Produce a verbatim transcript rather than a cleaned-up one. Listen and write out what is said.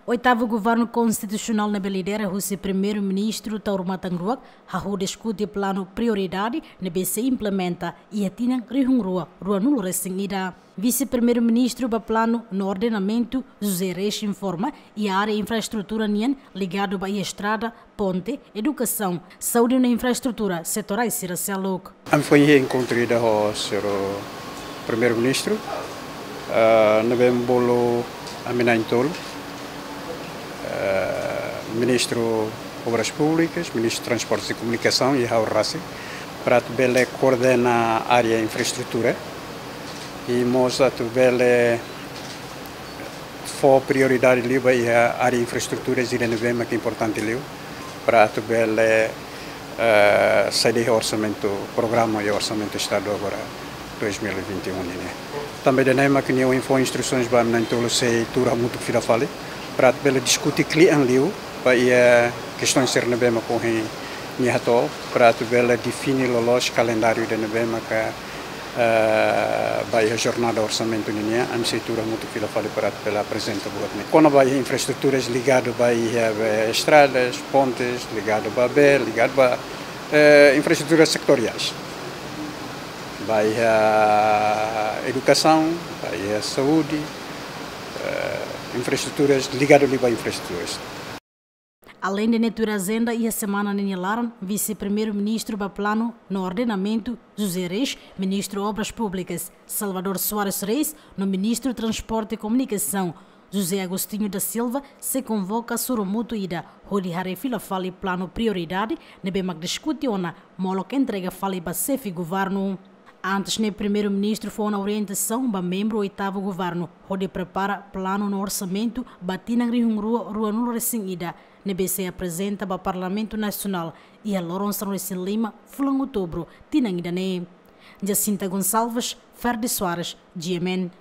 Oitavu Governu Konstitusionál ne'ebé lidera husi Primeiru-Ministru Taur Matan Ruak hahú diskute planu prioridade ne'ebé sei implementa iha tinan rihun rua ruanulu resin ida. Vise-Primeiru-Ministru ba Planu no Ordenamentu, José Reis, informa iha área infraestrutura nian ligadu ba iha estrada, ponte, edukasaun, saúde no infraestrutura setorais sira seluk. Ami foin iha enkontru ida ho señór Primeiru-Ministru, ah, ne'ebé bolu ami na'in-tolu, ah, Ministru Obras Públikas, Ministru Transportes e Komunikasaun i ha'u rasik, para atu bele koordena área infraestrutura i mós atu bele fó prioridade liu ba iha área infraestrutura ida ne'ebé mak importante liu para atu bele, eh, sai iha orsamentu, programa iha orsamentu Estadu agora dois mil e vinte e um nian. Tanba ida-ne'e mak ami fó instrusaun ba ami na'in-tolu sei tuur hamutuk fila fali para atu bele diskute kle'an liu ba iha kestaun sira ne'ebé mak ohin nia hato'o para atu bele define loloos kalendáriu ida ne'ebé maka, eh, ba iha jornada orsamentu nian, ami sei tuur hamutuk fila fali para atu bele aprezenta buat ne'e. Kona-ba iha infraestruturas ligadu ba iha, eh, estradas, pontes, ligadu ba bee, ligadu ba, eh, infraestruturas setoriais. Ba iha edukasaun, ba iha saúde, eh, infraestruturas ligadu liu ba infraestruturas. Aleinde ne'e tuir ajenda, iha semana ne'e nia laran, Vise-Primeiru-Ministru ba Planu no Ordenamentu, José Reis, Ministru Obras Públikas, Salvador Soares Reis, no Ministru Transporte e Komunikasaun, José Agostinho da Silva, sei konvoka sorumutu ida hodi haree fila fali planu prioridade ne'ebé mak diskute ona molok entrega fali ba Xefe Governu. Antes ne'e, Primeiru-Ministru fó ona orientasaun ba membru Oitavu Governu hodi prepara planu no orsamentu ba tinan rihun rua ruanulu resin ida, ne'ebé sei aprezenta ba Parlamentu Nasionál iha loron sanulu resin lima fulan Outubru tinan ida-ne'e. Jacinta Gonçalves, Ferdi Soares, G M N.